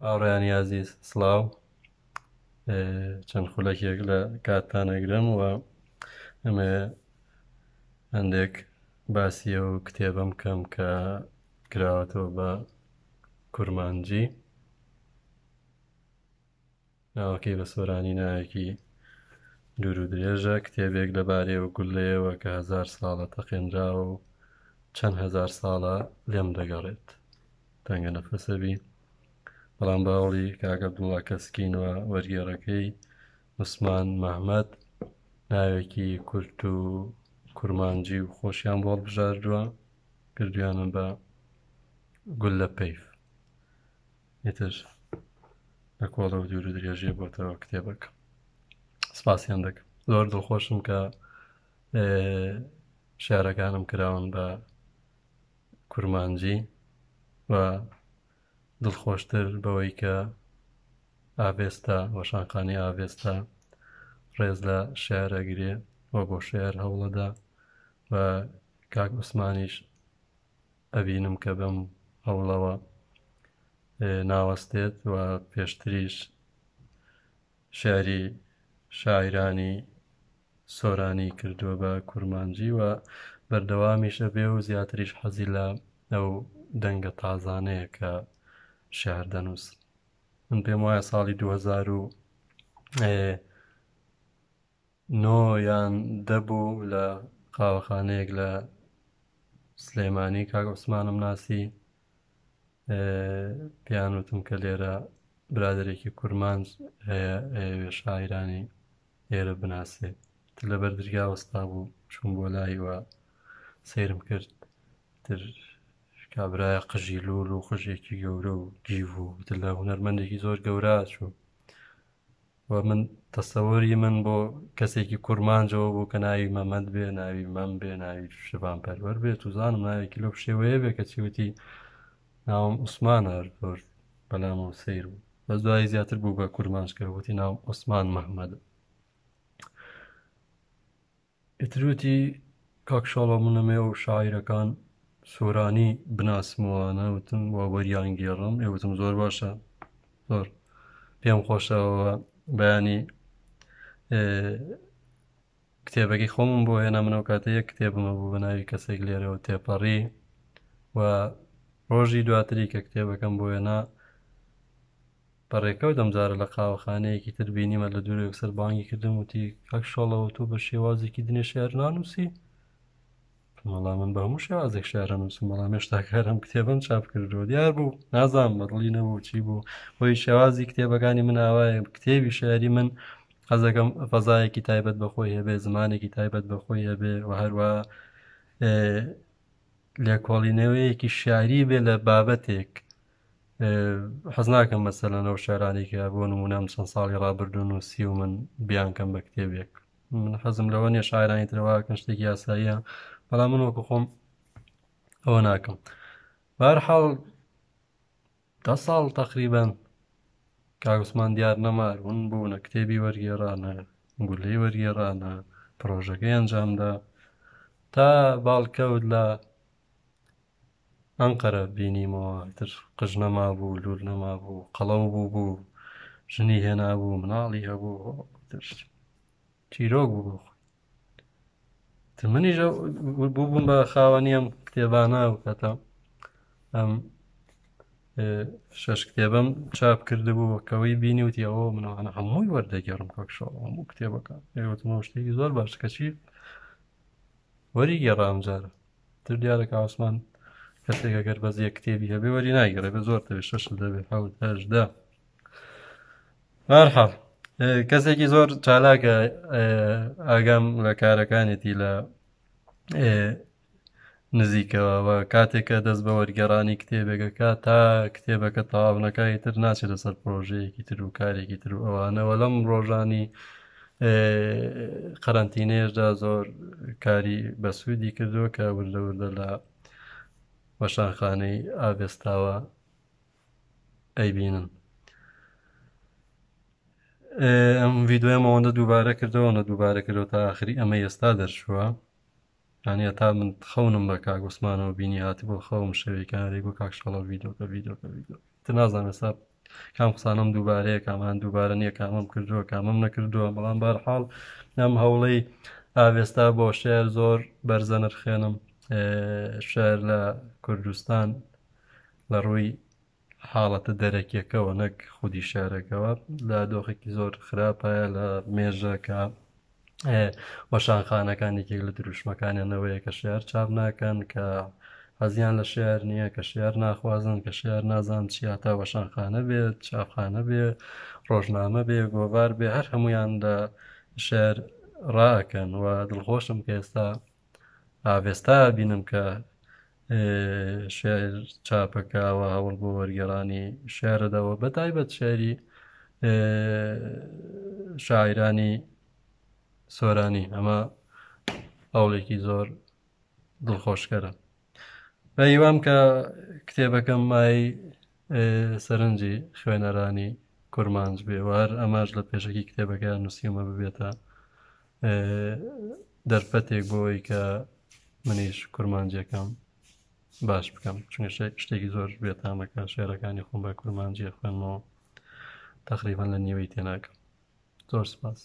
هاوڕێیانی ئازیز سڵاو چەند خولەکێک لە کاتتان ئەگرم و ئەمێ هەندێک باسی ئەو کتێبەم کەم کە کراوەتەوە بە کورمانجی ناوەکەی بە سۆرانی ناوێکی دوور و درێژە کتێبێک لەبارەیەوە گوللەیەوە کە هەزار ساڵە تەقێنراوە و چەند هەزار ساڵە لێم دەگەڕێت تەنگە نەفەسە بی بەڵام بە هەوڵی کاک عەبدوڵڵا کەسکین و وەرگێڕەکەی عوسمان مەهمەد ناوێکی کورت و کورمانجی و خۆشیان بۆ هەڵبژاردووە کردویانە بە گوللە پەیف ئیتر لە کۆڵە و دوور و درێژیە بۆتەوە کتێبەکە سپاسیان دەکەم زۆر دڵخۆشم کە شارەکانم کراون بە کورمانجی و دڵخۆشتر بەوەی کە ئاڤێستا وەشانخانەی ئاڤێستا ڕێز لە شعر ئەگرێ و بۆ شعر هەوڵەدا و کاک عوسمانیش ئەبینم کە بەم هەوڵەوە ناوەستێت و پێشتریش شعری شاعیرانی سۆرانی کردووە بە کورمانجی و بەردەوامیش ئەبێ و زیاتریش حەزی لە ئەو دەنگە تازانەیە کە شعر دەنووسن. من پێم وایە ساڵی 2009 یان دە بوو لە قاوەخانەیەک لە سلێمانی کاک عوسمانم ناسی پێیان وتم کە لێرە برادێکی کورمانج هەیە ئەیەوێ شاعیرانی ئێرە بناسێ تر لەبەر درگا وەستا بوو چوون بۆ لای و سەیرم کرد تر کابرایە قژی لول و قژێکی گەورە و گیڤ و تر لە هونەرمەندێکی زۆر گەورە چوو و من تەسەوری من بۆ کەسێکی کورمانجەوە بوو کە ناوی مەمەد بێ ناوی مەم بێ ناوی شڤان پەروەر بێت و زانم ناوێکی لەو شێوەیە بێ کە چیوتی ناوم عوسمانە هەر زۆر بەلامەوە سەیر بوو بەس دوایی زیاتر بوو بە کورمانج کە وتی ناوم عوسمان مەحمەدە ئیتر وتی کاک شاڵاو من ئەمەوێ ئەو شاعیرەکان سۆرانی بناسمەوانە وتم وا وەریان گێڕم ئێ وتم زۆر باشە زۆر پێم خۆشەوە بەیانی کتێبەکەی خۆمم بۆ هێنا منەوە کاتە یەک کتێبمە بوو بە ناوی کەسێک لێرەوە تێپەڕی و ڕۆژی دواتری کە کتێبەکەم بۆ هێنا بە ڕێکەوت ئەمجارە لە قاوەخانەیەکی تر بینیمە لە دوور یەکسەر بانگی کردم وتی کاک شاڵەوە تۆ بە شێوازێکی دنێ شعر نانووسی وەڵا من بە هەموو شێوازێک شعر نووسم بەڵام هێشتا کارم کتێبم چاپ کردووە دیار بوو نازانم بەدڵی نەبوو چی بوو بۆی شێوازی کتێبەکانی من ئاوایە کتێبی شعری من حەزەکەم فەزایەکی تایبەت بە خۆی هەبێ زمانێکی تایبەت بە خۆی هەبێ و هەروە لێکۆڵینەوەیەکی شعری بێ لە بابەتێک حەز ناکەم مەسەلەن ئەو شعرانەی کە بۆ نمونە ئەم چەند ساڵی ڕابردوو نووسی و من بیانکەم بە کتێبێک من حەزم لەوە نییە شاعرانی ترەوەکەن شتێکی یاساییە بەڵام من وەکو خۆم ئەوە ناکەم بەهەرحاڵ دە ساڵ تقریبان کاک عوسمان دیار نەما ون بوو نە کتێبی وەرگێڕا نە گولەی وەرگێڕا نە پرۆژەکەی ئەنجامدا تا باڵکەوت لە ئەنقەرە بینیمەوە ئیتر قژ نەمابوو لوول نەمابوو قەڵەو بوو بوو ژنی هێنابوو مناڵی هەبوو ئیتر چیرۆک بوو بۆ خۆی تر منیش بوو بووم بە خاوەنی ئەم کتێبانە و کاتە ئەم شەش کتێبم چاپ کردبوو کەەوەی بینی وتی ئەوە منەوانە هەمووی وەردەگێڕم کاکشەوە هەموو کتێبەکە ئێوەتمەوە شتێکی زۆر باش کەچی وەری گێڕا ئەم جارە تر دیارە کە عوسمان کەسێک ئەگەر بەس یەک کتێبی هەبێ وەری ناگەڕێ بە زۆر دەبێ شەش دەبێ حەوت هەژدە بەهەرحاڵ کەسێکی زۆر چالاکە ئاگام لە کارەکانێتی لە نزیکەوە و کاتێک کە دەست بە وەرگێڕانی کتێبێکەکە تا کتێبەکە تەواو نەکا ئیتر ناچێتە سەر پرۆژەیەکی تر و کارێکی تر و ئەوانەوە لەم ڕۆژانی قەرەنتینەیەشدا زۆر کاری بەسوودی کردووە کە وردە وردە لە وەشانخانەی ئاڤێستاوە ئەیبینن. ئەم ڤیددیوەم ئەوەندە دووبارە کردەوە نە دووبارە کردەوە تا ئاخری ئەمە ئێستا دەرچووە یانی هەتا من خەونم بە کاک عوسمانەوە بینی هاتبوو خەوم شەوێکیان دەیگوت کاک شاڵاو ڤیدۆکە ڤیدۆکە ڤیدۆکە تر نازانم ئێستا. کام قسانەم دووبارەیە کامان دووبارە نییە کامەم کردووە کامەم نەکردووە بەڵام بەرحاڵ ئەم هەوڵەی ئاڤێستا بۆ شعر زۆر بەرزە نرخێنم شعر لە کوردستان لە ڕووی حاڵەتە دەرەکیەکەوە نەک خودی شارەکەوە لە دۆخێکی زۆر خراپایە لە مێژە کە وەشانخانەکان یەکێک لە دروشمەکانیانەوەیە کە شعر چاپ ناکەن کە حەزیان لە شعر نییە کە شعر ناخوازن کە شعر نازان چیا تا وەشانخانە بێت چاپخانە بێ ڕۆژنامە بێ گۆڤار بێ هەر هەمویان لە شعر ڕائەکەن و دڵخۆشم کە ئێستا ئاڤێستا بینم کە شعر چاپەکەوە هەوڵ بۆ وەرگێڕانی شعرەدەوە بە تایبەت شعری شاعیرانی سۆرانی ئەمە هەوڵێکی زۆر دڵخۆشکەرە بە هیوام کە کتێبەکەم مای سەرنجی خوێنەرانی کورمانج بێ و هەر ئەماش لە پێشەکی کتێبەکە نووسیومە ببێتە دەرفەتێک بۆی کە منیش کورمانجیەکەم باش بکەم چونکە شتێکی زۆر بێتامەکە شێرەکانی خۆم بە کورمانجیە خوێنمەوە تقریبان لە نیوەی تێناکەم زۆر سپاس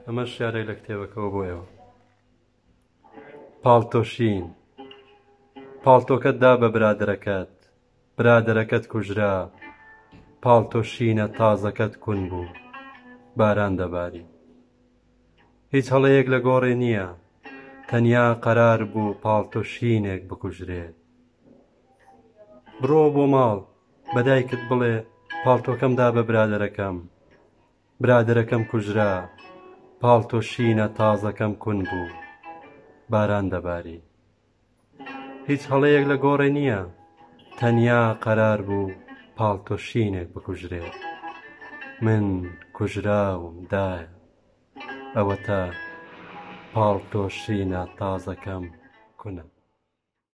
ئەمەش شارێک لە کتێبەکەوە بۆ ئێوە. پاڵتۆ شین پاڵتۆکەت دا بە برادەرەکەت برادەرەکەت کوژرا پاڵتۆ شینە تازەکەت کون بوو باران دەباری هیچ هەڵەیەک لە گۆڕێ نییە تەنیا قەرار بوو پاڵتۆ شینێک بکوژرێ بڕۆ بۆ ماڵ بە دایکت بڵێ پاڵتۆکەم دا بە برادەرەکەم برادەرەکەم کوژرا، پاڵتۆ شینە تازەکەم کون بوو، باران دەباری. هیچ هەڵەیەک لە گۆڕێ نییە، تەنیا قەرار بوو پاڵتۆ شینێک بکوژرێ. من کوژراوم دایە، ئەوەتا پاڵتۆ شینە تازەکەم کونە.